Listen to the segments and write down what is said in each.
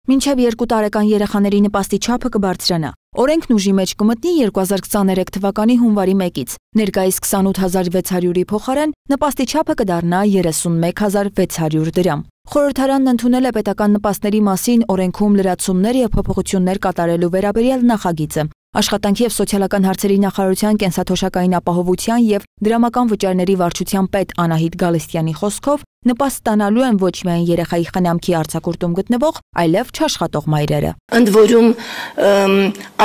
Մինչև 2 տարեկան երեխաների նպաստի չափը կբարձրանա։ Օրենքն ուժի մեջ կմտնի 2023 թվականի հունվարի 1-ից։ Ներկայիս 28600-ի փոխարեն նպաստի չափը կդառնա 31600 դրամ։ Խորհրդարանն ընդունել է պետական նպաստների մասին օրենքում լրացումներ եւ փոփոխություններ կատարելու վերաբերյալ նախագիծը։ Աշխատանքի եւ սոցիալական հարցերի նախարարության կենսաթոշակային ապահովության եւ դրամական վճարների վարչության պետ Անահիտ Գալստյանի խոսքով նպաստ ստանալու են ոչ միայն երեխայի խնամքի արձակուրդում գտնվող, այլև չաշխատող մայրերը։ Ընդ որում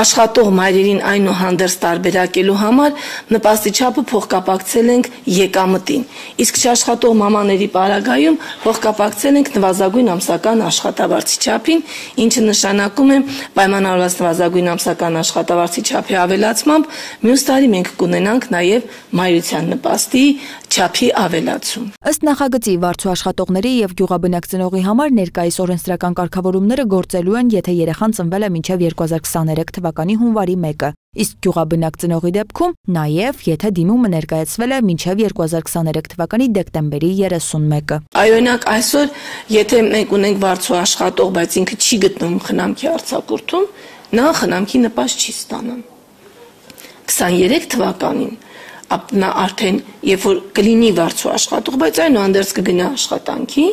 աշխատող մայրերին այնուհանդերձ տարբերակելու համար նպաստի չափը փոխկապակցել ենք եկամտին, իսկ չաշխատող մամաների պարագայում փոխկապակցել ենք նվազագույն ամսական աշխատավարձի չափին, ինչը նշանակում է պայմանավորված նվազագույն ամսական աշխատավարձի չափի ավելացմամբ մյուս տարի մենք կունենանք նաև մայրության նպաստի չափի ավելացում։ Ըստ նախագծի վարձու աշխատողների եւ գյուղաբնակ ծնողի համար ներկայիս օրենսդրական կարգավորումները գործելու են, եթե երեխան ծնվել է մինչև 2023 թվականի հունվարի 1-ը, իսկ գյուղաբնակ ծնողի դեպքում նաև, եթե դիմումը ներկայացվել է մինչև 2023 թվականի դեկտեմբերի 31-ը։ Օրինակ այսօր, եթե մենք ունենք վարձու աշխատող, բայց ինքը չի գտնվում խնամքի արձակուրդում, նա խնամքի նպաստ չի ստանում։ 23 թվականին նա արդեն երբ որ կլինի վարձու աշխատող, բայց այնուհանդերձ կգնա աշխատանքի,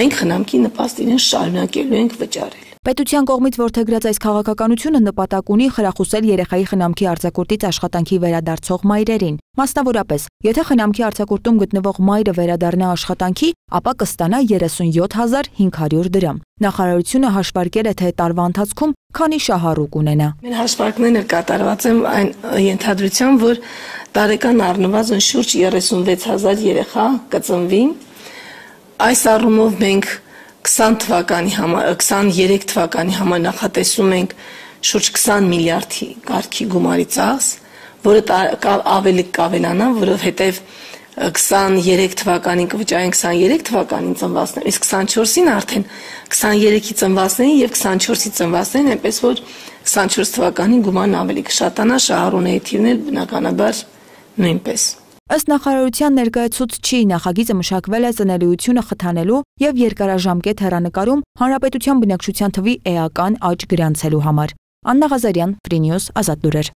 մենք խնամքի նպաստ իրեն շարունակելու ենք վճարել։ Պետության կողմից որդեգրած այս քաղաքականությունը նպատակ ունի խրախուսել երեխայի խնամքի արձակուրդից աշխատանքի վերադարձող մայրերին։ Մասնավորապես, եթե խնամքի արձակուրդում գտնվող մայրը վերադառնա աշխատանքի, ապա կստանա 37500 դրամ։ Նախարարությունը հաշվարկել է, թե տարվա ընթացքում քանի շահառու կունենա։ Մեր հաշվարկները կատարված են այն ենթադրությամբ, որ տարեկան առնվազն շուրջ 36000 երեխա կծնվի։ Այս առումով մենք 23 թվականի համար նախատեսում ենք շուրջ 20 միլիարդի կարգի գումարի ծախս, որը ավելի կավելանա, որովհետև 23 թվականին կվճարենք 23 թվականին ծնվածներին, իսկ 24-ին արդեն 23-ի ծնվածներին եւ 24-ի ծնվածներին, այնպես որ 24 թվականին գումարն ավելի կշատանա, շահառուների թիվն էլ բնականաբար նույնպես։ Ըստ նախարարության ներկայացուցչի նախագիծը մշակվել է ծնելիությունը խթանելու եւ երկարաժամկետ հեռանկարում հանրապետության բնակչության թվի էական աճ գրանցելու համար։ Աննա Ղազարյան, Free News, Ազատ լուրեր։